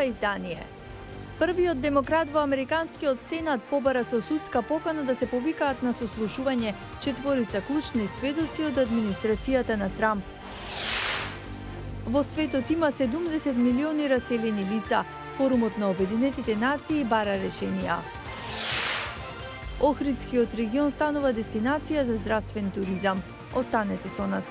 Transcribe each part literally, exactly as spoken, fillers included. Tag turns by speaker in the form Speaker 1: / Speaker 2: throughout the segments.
Speaker 1: ова издание. Првиот демократ во Американскиот сенат побара со судска покана да се повикаат на сослушување четворица клучни сведоци од администрацијата на Трамп. Во светот има седумдесет милиони раселени лица. Форумот на Обединетите нации бара решенија. Охридскиот регион станува дестинација за здравствен туризам. Останете со нас.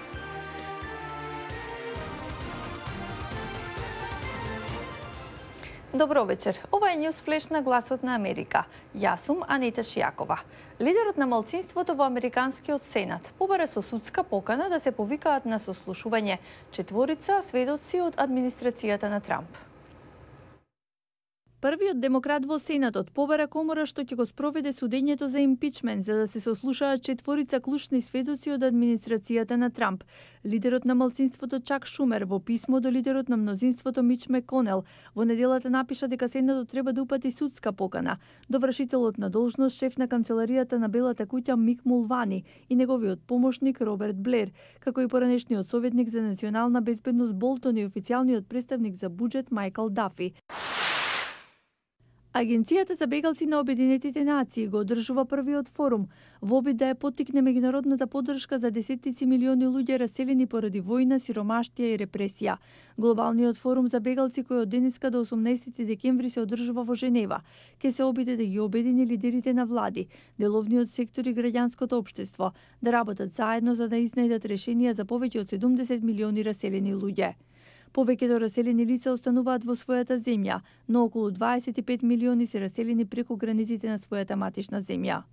Speaker 1: Добро вечер. Ова е News Flash на Гласот на Америка. Јас сум Анита Шијакова. Лидерот на малцинството во Американскиот сенат побара со судска покана да се повикаат на сослушување четворица сведоци од администрацијата на Трамп. Првиот демократ во Сенатот побара комора што ќе го спроведе судењето за импичмент за да се сослушаат четворица клучни сведоци од администрацијата на Трамп. Лидерот на малцинството Чак Шумер во писмо до лидерот на мнозинството Мич Меконел во неделата напиша дека Сенатот треба да упати судска покана. Довршителот на должност шеф на канцеларијата на Белата куќа Мик Мулвани и неговиот помошник Роберт Блер, како и поранешниот советник за национална безбедност Болтон и официјалниот представник за буџет Мајкл Дафи. Агенцијата за бегалци на Обединетите нации го одржува првиот форум во обид да ја поттикне меѓународната поддршка за десеттици милиони луѓе раселени поради војна, сиромаштија и репресија. Глобалниот форум за бегалци кој од денеска до осумнаесети декември се одржува во Женева ќе се обиде да ги обедини лидерите на влади, деловниот сектор и граѓанското општество да работат заедно за да изнајдат решенија за повеќе од седумдесет милиони раселени луѓе. Повеќето раселени лица остануваат во својата земја, но околу дваесет и пет милиони се раселени преку границите на својата матична земја.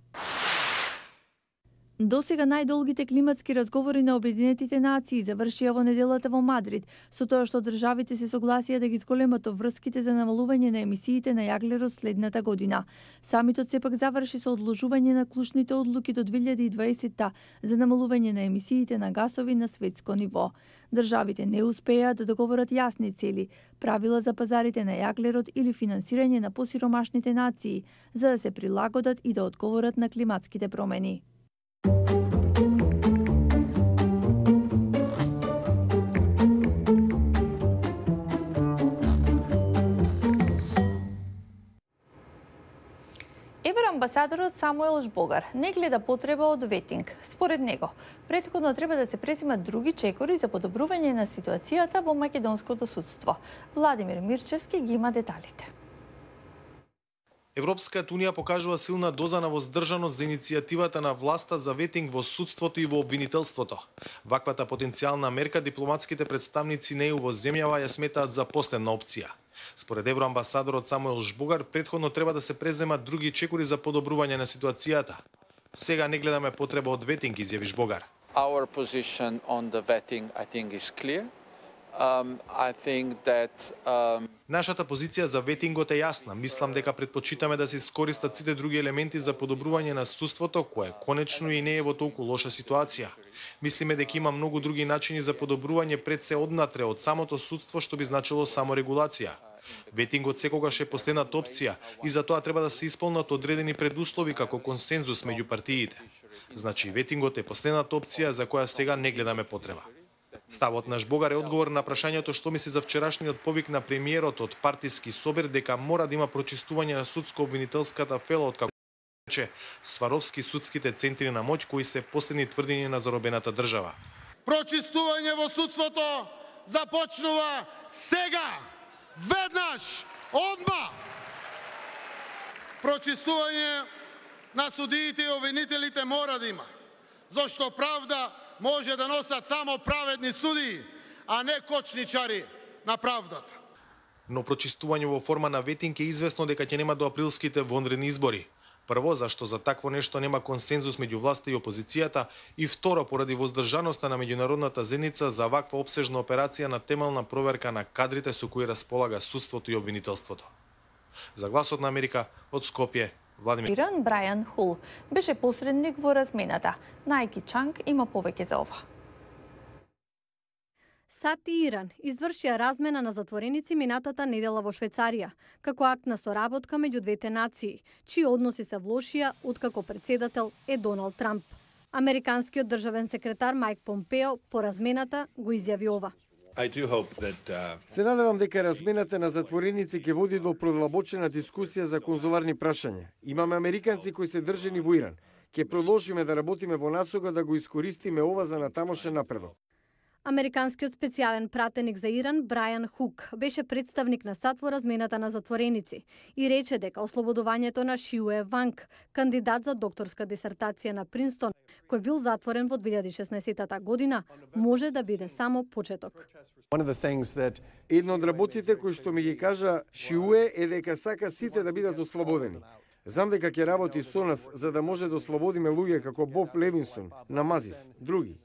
Speaker 1: Досега најдолгите климатски разговори на Обединетите нации завршија во неделата во Мадрид, со тоа што државите се согласија да ги зголемат врските за намалување на емисиите на јаглерод следната година. Самитот сепак заврши со одложување на клучните одлуки до две илјади и дваесетта за намалување на емисиите на гасови на светско ниво. Државите не успеа да договорат јасни цели, правила за пазарите на јаглерод или финансирање на посиромашните нации, за да се прилагодат и да одговорат на климатските промени. Евроамбасадорот Самуел Жбогар не гледа потреба од ветинг. Според него, претходно треба да се преземат други чекори за подобрување на ситуацијата во македонското судство. Владимир Мирчевски ги има деталите.
Speaker 2: Европската унија покажува силна доза на воздржаност за иницијативата на власта за ветинг во судството и во обвинителството. Ваквата потенцијална мерка дипломатските представници неју во земјава ја сметаат за последна опција. Според евроамбасадорот Самуел Жбогар, претходно треба да се преземат други чекори за подобрување на ситуацијата. Сега не гледаме потреба од ветинг, изјави Жбогар.
Speaker 3: Our position on the vetting, I think, is clear. Um, I think that, um...
Speaker 2: Нашата позиција за ветингот е јасна. Мислам дека предпочитаме да се искористат сите други елементи за подобрување на судството, кое конечно и не е во толку лоша ситуација. Мислиме дека има многу други начини за подобрување пред се однатре од самото судство, што би значило само регулација. Ветингот секогаш е последната опција и за тоа треба да се исполнат одредени предуслови како консензус меѓу партиите. Значи, ветингот е последната опција за која сега не гледаме потреба. Ставот на Жбогар е одговор на прашањето што мисли за вчерашниот повик на премиерот од партиски собир дека мора да има прочистување на судско-обвинителската фела од како рече Сваровски судските центри на моќ кои се последни тврдења на заробената држава.
Speaker 4: Прочистување во судството започнува сега, веднаш, одма. Прочистување на судиите и обвинителите мора да има, зашто правда може да носат само праведни судии, а не кочничари на правдата.
Speaker 2: Но прочистување во форма на ветинг е известно дека ќе нема до априлските вонредни избори. Прво, зашто за такво нешто нема консензус меѓу власта и опозицијата, и второ, поради воздржаноста на меѓународната заедница за ваква опсежна операција на темелна проверка на кадрите со кои располага судството и обвинителството. За Гласот на Америка, од Скопје, Владимир.
Speaker 1: Иран Брајан Хул беше посредник во размената. Најки Чанг има повеќе за ова.
Speaker 5: САД и Иран извршија размена на затвореници минатата недела во Швајцарија, како акт на соработка меѓу двете нации, чии односи се влошија откако председател е Доналд Трамп. Американскиот државен секретар Мајк Помпео по размената го изјави ова.
Speaker 6: I do hope that uh...
Speaker 7: Се надевам дека размената на затвореници ќе води до продлабочена дискусија за конзуларни прашања. Имаме американци кои се држени во Иран. Ќе продолжиме да работиме во насока да го искористиме ова за натамошен напредок.
Speaker 5: Американскиот специјален пратеник за Иран Брајан Хук беше представник на САД во размената на затвореници и рече дека ослободувањето на Шиуе Ванг, кандидат за докторска дисертација на Принстон, кој бил затворен во две илјади и шеснаесетта година, може да биде само почеток.
Speaker 7: Едно од работите кои што ми ги кажа Шиуе е дека сака сите да бидат ослободени. Знам дека ќе работи со нас за да може да ослободиме луѓе како Боб Левинсон, Намазис, други.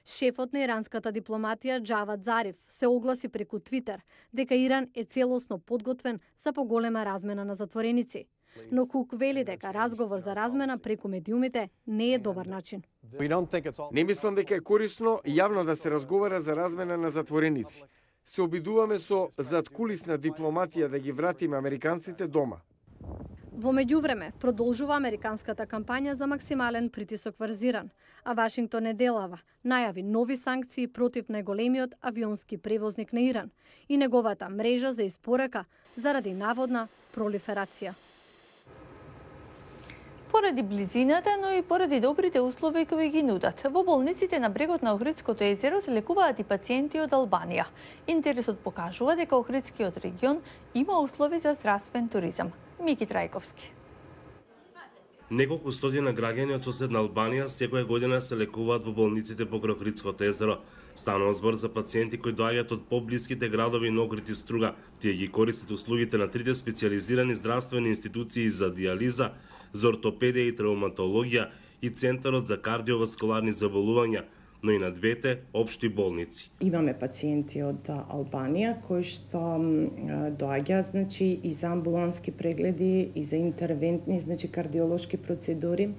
Speaker 5: Шефот на иранската дипломатија Џавад Зариф се огласи преку Твитер дека Иран е целосно подготвен за поголема размена на затвореници. Но Хук вели дека разговор за размена преку медиумите не е добар начин.
Speaker 7: Не мислам дека е корисно јавно да се разговара за размена на затвореници. Се обидуваме со заткулисна дипломатија да ги вратиме американците дома.
Speaker 5: Во меѓувреме, продолжува американската кампања за максимален притисок врз Иран, а Вашингтон неделава најави нови санкции против најголемиот авионски превозник на Иран и неговата мрежа за испорака заради наводна пролиферација.
Speaker 1: Поради близината, но и поради добрите услови кои ги нудат, во болниците на брегот на Охридското езеро се лекуваат и пациенти од Албанија. Интересот покажува дека Охридскиот регион има услови за здравствен туризам. Мики Трајковски.
Speaker 8: Неколку стотина граѓани од соседна Албанија секоја година се лекуваат во болниците покрај Охридското езеро. Станува збор за пациенти кои доаѓаат од поблиските градови на Охрид и Струга. Тие ги користат услугите на трите специјализирани здравствени институции за дијализа, за ортопедија и травматологија и Центарот за кардиоваскуларни заболувања, но и на двете општи болници.
Speaker 9: Имаме пациенти од Албанија кои што доаѓаат, значи, и за амбулански прегледи и за интервентни, значи кардиолошки процедури.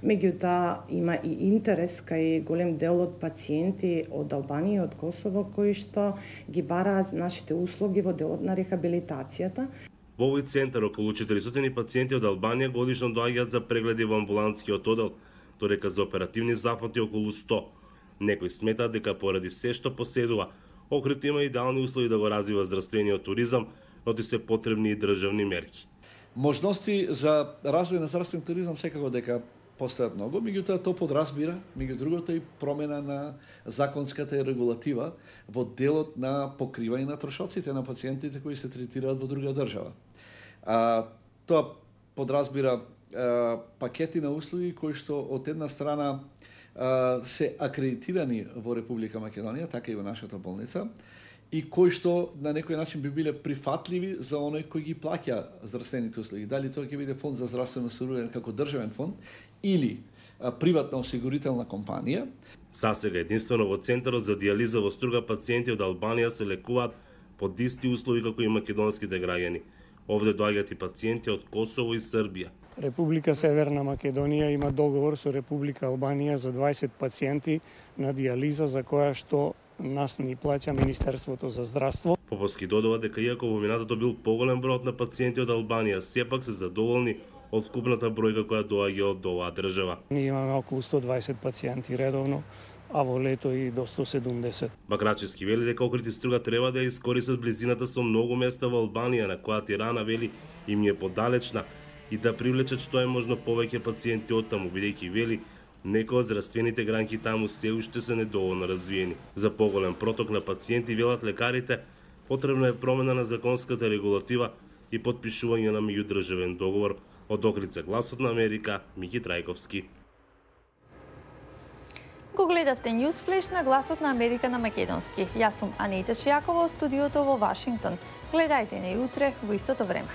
Speaker 9: Меѓутоа има и интерес кај голем дел од пациенти од Албанија и од Косово кои што ги бараат нашите услуги во делот на рехабилитацијата.
Speaker 8: Во овој центар околу четиристотини пациенти од Албанија годишно доаѓаат за прегледи во амбулантскиот одел, додека за оперативни зафати околу сто. Некои сметаат дека поради се што поседува, Охрид има идеални услови да го развива здравствениот туризам, но ти се потребни и државни мерки.
Speaker 10: Можности за развој на здравствен туризам секако дека постојат многу, меѓутоа тоа подразбира, меѓу другото, и промена на законската регулатива во делот на покривање на трошоците на пациентите кои се третираат во друга држава. А, тоа подразбира а, пакети на услуги кои што од една страна а, се акредитирани во Република Македонија, така и во нашата болница, и кои што на некој начин би биле прифатливи за оној кој ги плаќа здравствените услуги. Дали тоа ќе биде фонд за здравствено осигурување како државен фонд или а, приватна осигурителна компанија.
Speaker 8: Сасега единствено во Центарот за дијализа во Струга пациенти од Албанија се лекуваат под исти услови како и македонските граѓани. Овде доаѓаат и пациенти од Косово и Србија.
Speaker 11: Република Северна Македонија има договор со Република Албанија за дваесет пациенти на дијализа за која што нас ни плаќа Министерството за здравство.
Speaker 8: Поповски додава дека иако во минатото бил поголем бројот на пациенти од Албанија, сепак се задоволни од вкупната бројка која доаѓа од оваа држава.
Speaker 11: Ние имаме околу сто дваесет пациенти редовно, а во лето и до сто седумдесет.
Speaker 8: Бакрачевски вели дека Охрид и Струга треба да искористат близината со многу места во Албанија, на која Тирана вели им е подалечна, и да привлечат што е можно повеќе пациенти од таму, бидејќи вели некои од здравствените гранки таму се уште се недоволно развиени. За поголем проток на пациенти, велат лекарите, потребна е промена на законската регулатива и потпишување на меѓудржавен договор. Од Охрид за Гласот на Америка, Мики Трајковски.
Speaker 1: Го гледавте News Flash на Гласот на Америка на македонски. Јас сум Анита Шијакова од студиото во Вашингтон. Гледајте не утре во истото време.